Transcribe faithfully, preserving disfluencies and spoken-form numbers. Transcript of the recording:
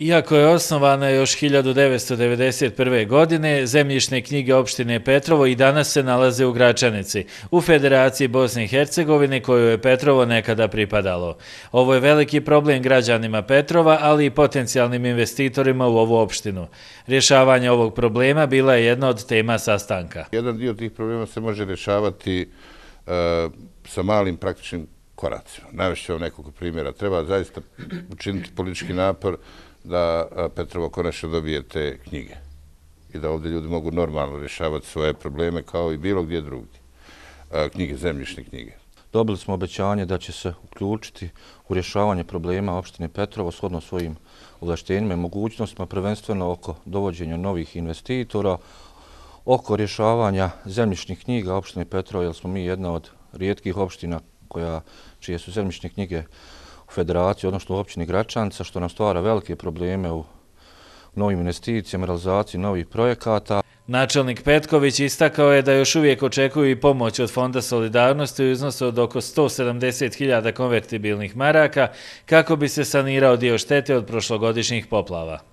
Iako je osnovana još hiljadu devetsto devedeset prve. godine, zemljišne knjige opštine Petrovo i danas se nalaze u Gračanici, u Federaciji Bosne i Hercegovine koju je Petrovo nekada pripadalo. Ovo je veliki problem građanima Petrova, ali i potencijalnim investitorima u ovu opštinu. Rješavanje ovog problema bila je jedna od tema sastanka. Jedan dio tih problema se može rješavati uh, sa malim praktičnim koracima. Navešću vam nekoliko primjera. Treba zaista učiniti politički napor da Petrovo konačno dobije te knjige i da ovdje ljudi mogu normalno rješavati svoje probleme kao i bilo gdje drugdje. Knjige, zemljišne knjige. Dobili smo obećanje da će se uključiti u rješavanje problema opštine Petrovo shodno svojim ovlaštenjima i mogućnostima, prvenstveno oko dovođenja novih investitora, oko rješavanja zemljišnih knjiga opštine Petrovo, jer smo mi jedna od rijetkih opština koja, čije su zemljišne knjige u Federaciji, odnosno u općini Gračanica, što nam stvara velike probleme u novim investicijama, realizaciji novih projekata. Načelnik Petković istakao je da još uvijek očekuju i pomoć od Fonda solidarnosti u iznosu od oko sto sedamdeset hiljada konvertibilnih maraka kako bi se sanirao dio štete od prošlogodišnjih poplava.